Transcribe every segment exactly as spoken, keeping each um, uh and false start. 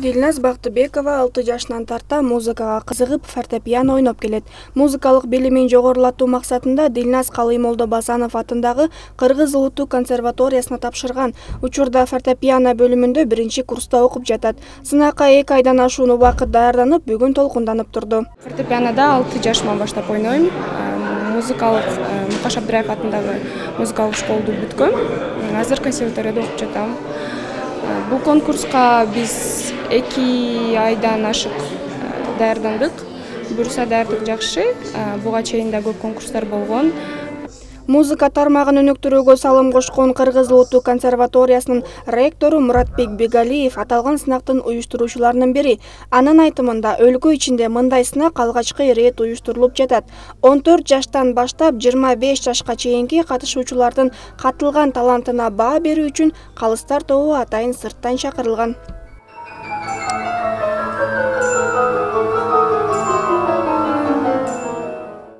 Дилназ Бактыбекова алты жашынан тарта музыкага кызыгып, фортепиано ойноп келет. Музыкалык билимин жогорулатуу максатында Дилназ Калыймолдо Басанов атындагы Кыргыз улуттук консерваториясына тапшырган. Учурда фортепиано бөлүмүндө биринчи курста окуп жатат. Сынакка эки айдан ашуун убакыт даярданып, бүгүн толкунданып турду. Фортепианода алты жашыман баштап ойнойм. Музыкалык Мукаш Абдыраев атындагы музыкалык школду бүткөм. Азыр консерваторияда окуп жатам. Бул конкурска биз эки айдан ашык даярдандык. Буюрса даярдык жакшы. Буга чейин да көп конкурстар болгон. Музыка тармагын өнүктүрүүгө салым кошкон Кыргыз улуттук консерваториясынын ректору Муратбек Бегалиев аталган сынактын уюштуруучуларынын бири. Анын айтымында, өлкө ичинде мындай сынак алгачкы ирет уюштурулуп жатат. он төрт жаштан баштап жыйырма беш жашка чейинки катышуучулардын катылган талантына баа берүү үчүн калыстар тобу атайын сырттан чакырылган.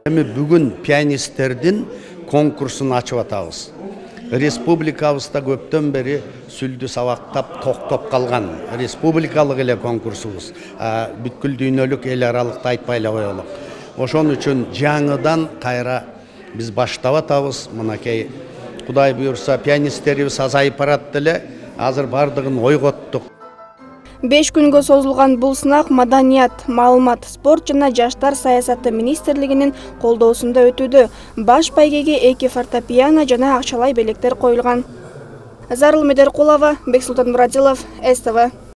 Эми бүгүн пианисттердин конкурсун ачып атабыз. Республикабызда көптөн бери сүлдү сабактап токтоп калган республикалык эле конкурсубуз. Бүткүл дүйнөлүк эл аралыкта айтпай эле коелук. Ошон үчүн жаңыдан кайра биз баштап атабыз. Мынакей Кудай буйрса пианисттерибиз азайып барат эле. Азыр бардыгын ойготтук. беш күнгө созулган бул сынак Маданият, маалымат, спорт жана жаштар саясаты министрлигинин колдоосунда өтүүдө. Баш байгеге эки фортепиано жана акчалай белектер коюлган. Зарыл Медеркулова, Бексултан Мурадилов, С Т В.